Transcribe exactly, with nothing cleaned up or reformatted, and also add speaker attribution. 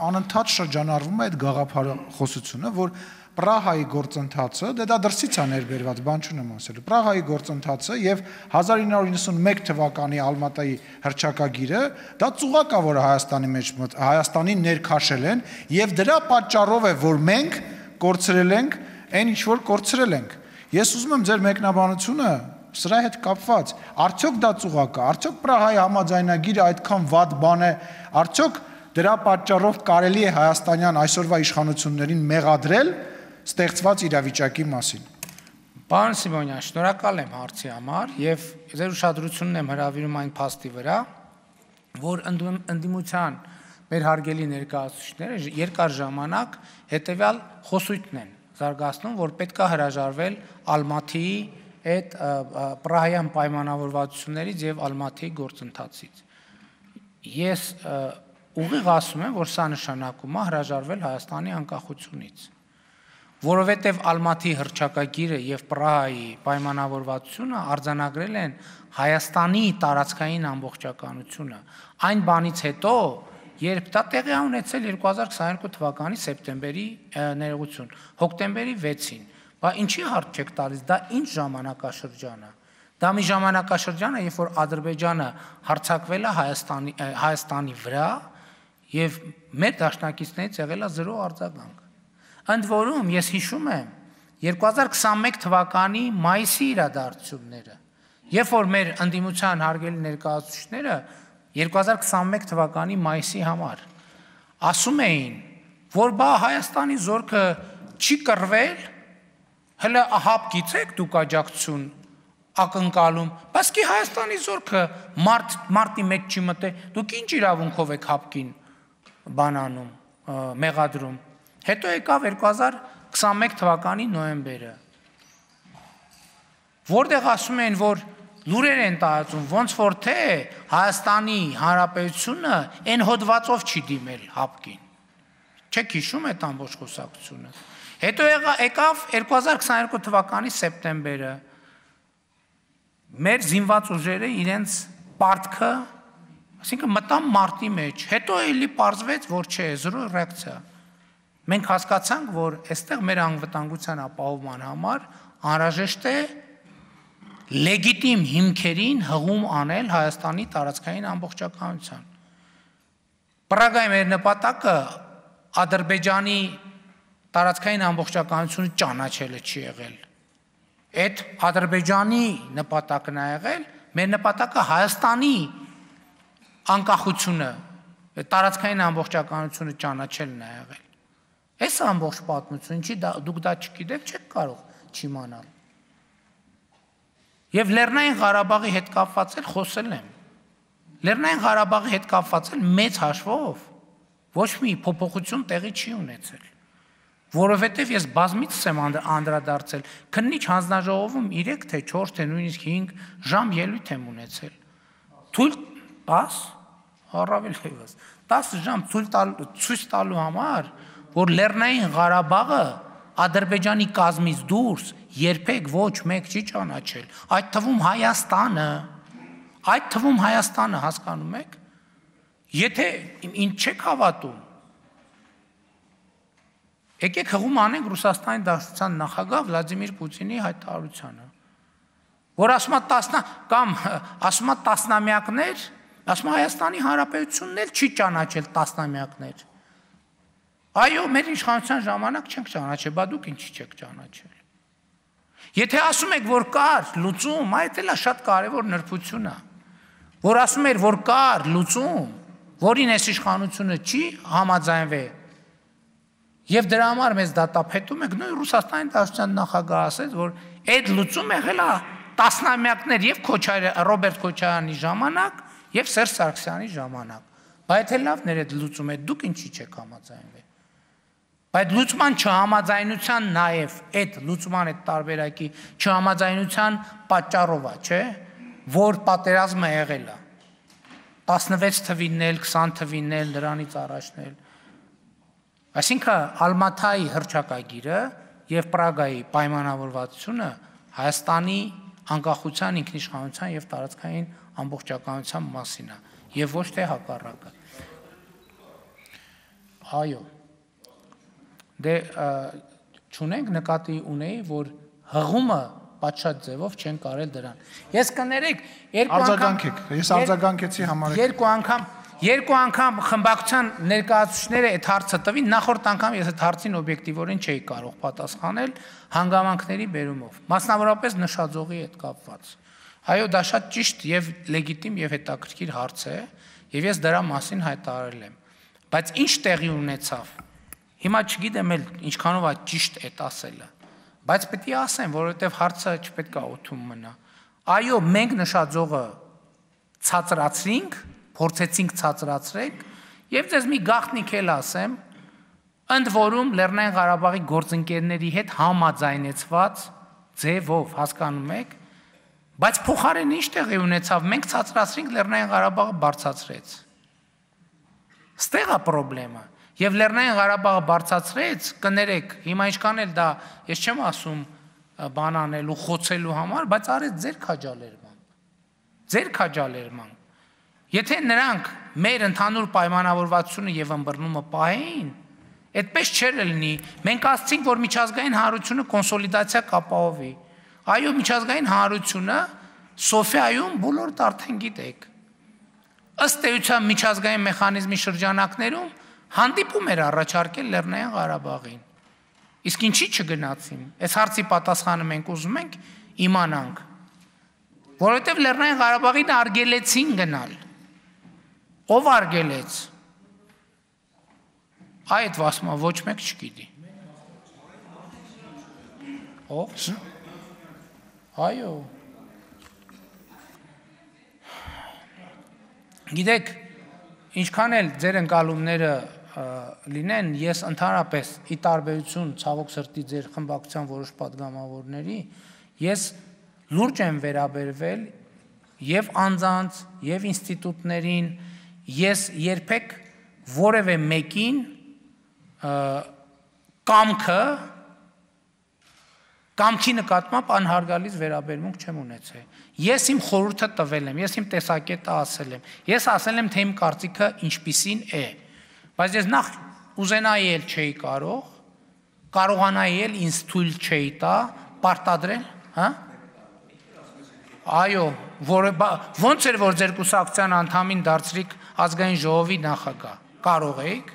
Speaker 1: անընդհատ շրջանառվում է այդ գաղափարախոսությունը, որ Պրահայի գործընթացը, դե դա դրսից է ներբերված, բան չունեմ ասելու, Պրահայի գործընթացը եւ հազար ինը հարյուր նվաթ թվականի Ալմատայի հռչակագիրը, դա ծուղակ է, որ Հայաստանի մեջ Հայաստանին ներքաշել են եւ դրա պատճառով է, որ մենք կորցրել ենք այն ինչ որ կորցրել ենք։ Ես ուզում եմ ձեր մեկնաբանությունը սրա հետ կապված, արդյոք դա ծուղակ է, արդյոք Պրահայի համաձայնագիրը այդքան վատ բան է, արդյոք դրա պատճառով կարելի է հայաստանյան այսօրվա իշխանություններին մեղադրել ստեղծված իրավիճակի մասին։
Speaker 2: Պարոն Սիմոնյան, շնորհակալ եմ հարցի համար եւ ձեր ուշադրությունն եմ հրավիրում այն փաստի վրա, որ ընդդիմության մեր հարգելի ներկայացուցիչները երկար ժամանակ հետեւյալ խոսույթն են զարգացնում, որ պետք է հրաժարվել Ալմատիի այդ Պրահյան պայմանավորվածություններից եւ Ալմատիի գործընթացից։ Ես ուղիղ ասում եմ, որ սա նշանակում է հրաժարվել Հայաստանի անկախությունից, որովհետև Ալմատիի հռչակագիրը եւ Պրահայի պայմանավորվածությունը արձանագրել են Հայաստանի տարածքային ամբողջականությունը։ Այն բանից հետո, երբ դա տեղի է ունեցել երկու հազար քսաներկու թվականի սեպտեմբերի ներողություն, հոկտեմբերի վեցին, բա ինչի հարց չեք տալիս, դա ինչ ժամանակաշրջան է։ Դա մի ժամանակաշրջան է, երբ որ Ադրբեջանը հարձակվել է Հայաստանի Հայաստանի վրա եւ մեր դաշնակիցներից եղել է զրո արձագանք։ Ընդ որում ես հիշում եմ երկու հազար քսաներկու թվականի մայիսի իրադարձությունները, երբ որ մեր ընդդիմության հարգելի ներկայացուցիչները երկու հազար քսաներկու թվականի մայիսի համար ասում էին, որ բա Հայաստանի զորքը չի կռվել, հələ հապ գիցեք դուք աջակցություն ակնկալում, բայց კი Հայաստանի զորքը մարտ մարտի մեջ չի մտել, դուք ինչ իրավունքով եք հապկին բանանում, մեղադրում։ Հետո եկավ երկու հազար քսաներկու թվականի նոյեմբերը, որտեղ ասում են, որ լուրեր են տարածում, ոնց որ թե Հայաստանի Հանրապետությունը այն հոդվածով չի դիմել հապկին։ Չեք հիշում այդ ամբողջ խոսակցությունը։ Հետո եկավ երկու հազար քսաներկու թվականի սեպտեմբերը, մեր զինված ուժերը իրենց պարտքը, այսինքն մտան մարտի մեջ, հետո էլի պարզվեց, որ չէ, զրո ռեակցիա։ Մենք հասկացանք, որ այստեղ մեր անվտանգության ապահովման համար անհրաժեշտ է լեգիտիմ հիմքերին հղում անել Հայաստանի տարածքային ամբողջականության։ Պրագայի մեր նպատակը Ադրբեջանի տարածքային ամբողջականությունը ճանաչելը չի եղել։ Այդ Ադրբեջանի նպատակն է եղել, մեր նպատակը Հայաստանի անկախությունը, տարածքային ամբողջականությունը ճանաչելն է եղել։ Այս ամբողջ պատմությունը, ինչի դուք դա չգիտեք, չեք կարող չիմանալ։ Եվ Լեռնային Ղարաբաղի հետ կապված էլ խոսել եմ։ Լեռնային Ղարաբաղի հետ կապված էլ մեծ հաշվով ոչ մի փոփոխություն տեղի չի ունեցել, որովհետև ես բազմիցս եմ անդրադարձել, քննիչ հանձնաժողովում երեք թե չորս թե նույնիսկ հինգ ժամ ելույթ եմ ունեցել։ Թույլ տաս, առավել ևս, տասը ժամ ցույց տալու համար, որ Լեռնային Ղարաբաղը Ադրբեջանի կազմից դուրս երբեք ոչ մեկ չի ճանաչել, այդ թվում Հայաստանը, այդ թվում Հայաստանը հասկանում եք, եթե ինչ չեք հավատում, եկեք հղում անենք Ռուսաստանի Դաշնության նախագահ Վլադիմիր Պուտինի հայտարարությանը, որ ասում է տասնա կամ ասում է տասնամյակներ, ասում է Հայաստանի Հանրապետությունն էլ չի ճանաչել տասնամյակներ։ Այո, մեր իշխանության ժամանակ չենք ճանաչել, բա դուք ինչի չեք ճանաչել։ Եթե ասում եք, որ կար լուծում, այդ էլ է շատ կարևոր նրբություն է, որ ասում էր, որ կար լուծում, որին այս իշխանությունը չի համաձայնվել, եւ դրա համար մեզ դատապետում եք, նույն Ռուսաստանի Դաշնության նախագահը ասեց, որ այդ լուծում եղել է տասնամյակներ եւ Ռոբերտ Քոչարյանի ժամանակ եւ Սերժ Սարգսյանի ժամանակ։ Բայց էլ լավն էր այդ լուծումը, դուք ինչի չեք համաձայնվել։ Բայց լուծման չհամաձայնության նաեւ այդ լուծման այդ տարբերակի չհամաձայնության պատճառով է, չէ՞, որ պատերազմը եղել է։ տասնվեց թվինն էլ, քսան թվինն էլ, նրանից առաջն էլ։ Այսինքն Ալմատայի հռչակագիրը եւ Պրագայի պայմանավորվածությունը Հայաստանի անկախության, ինքնիշխանության եւ տարածքային ամբողջականության մասին է եւ ոչ թե հակառակը։ Այո։ Դե չունենք նկատի ունեի, որ հղումը պատշաճ ձևով չեն կարել դրան։ Ես կներեք, երկու անգամ
Speaker 1: ես արձագանքեցի համարեք։
Speaker 2: Երկու անգամ Երկու անգամ խմբակցության ներկայացուցիչները այդ հարցը տվին, նախորդ անգամ ես այդ հարցին օբյեկտիվորեն չէի կարող պատասխանել հանգամանքների բերումով, մասնավորապես նշաձողի հետ կապված։ Այո, դա շատ ճիշտ եւ լեգիտիմ եւ հետաքրքիր հարց է, եւ ես դրա մասին հայտարարել եմ։ Բայց ինչ տեղի ունեցավ։ Հիմա չգիտեմ էլ ինչքանով է ճիշտ այդ ասելը, բայց պետք է ասեմ, որովհետեւ հարցը չպետք է օթում մնա։ Այո, մենք նշաձողը ցածրացրինք, փորձեցինք ցածրացրեք, եւ ձեզ մի գաղտնիք էլ ասեմ, ընդ որում Լեռնային Ղարաբաղի գործընկերների հետ համաձայնեցված ձևով, հասկանում եք, բայց փոխարեն ինչ տեղի ունեցավ, մենք ցածրացրինք, Լեռնային Ղարաբաղը բարձրացրեց։ Ստեղ է խնդրեմը, եւ Լեռնային Ղարաբաղը բարձրացրեց, կներեք, հիմա ինչքան էլ դա, ես չեմ ասում բան անելու, խոցելու համար, բայց արեց ձեր քաջալերմամբ։ Ձեր քաջալերմամբ։ Եթե նրանք մեր ընդհանուր պայմանավորվածությունը եւ ըմբռնումը պահեին, այդպես չէր լինի։ Մենք ասացինք, որ միջազգային հանրությունը կոնսոլիդացիա կապահովի։ Այո, միջազգային հանրությունը Սոֆիայում բոլորդ արդեն գիտեք։ Ըստ էության միջազգային մեխանիզմի շրջանակներում հանդիպում էր առաջարկել Լեռնային Ղարաբաղին։ Իսկ ինչի չգնացին։ Այս հարցի պատասխանը մենք ուզում ենք իմանանք։ Որովհետեւ Լեռնային Ղարաբաղին արգելեցին գնալ։ Ով արգելեց։ Այդ վասմա ոչ մեկ չգիտի։ Ով։ Այո։ Գիտեք, ինչքան էլ ձեր ընկալումները լինեն, ես ընդհանրապես ի տարբերություն ցավոք սրտի ձեր խմբակցության որոշ պատգամավորների, ես լուրջ եմ վերաբերվել եւ անձանց, եւ ինստիտուտներին, ես երբեք որևէ մեկին կամքը կամքի նկատմամբ անհարգալից վերաբերմունք չեմ ունեցել։ Ես իմ խորհուրդը տվել եմ, ես իմ տեսակետը ասել եմ։ Ես ասել եմ, թե իմ կարծիքը ինչպիսին է։ Բայց ես նախ ուզենայի էլ չէի կարող, կարողանայի էլ ինձ թույլ չէի տա պարտադրել, հա։ Այո, որը ոնց էր որ ձեր կուսակցության անդամին դարձրիք ազգային ժողովի նախագահ, կարող եք։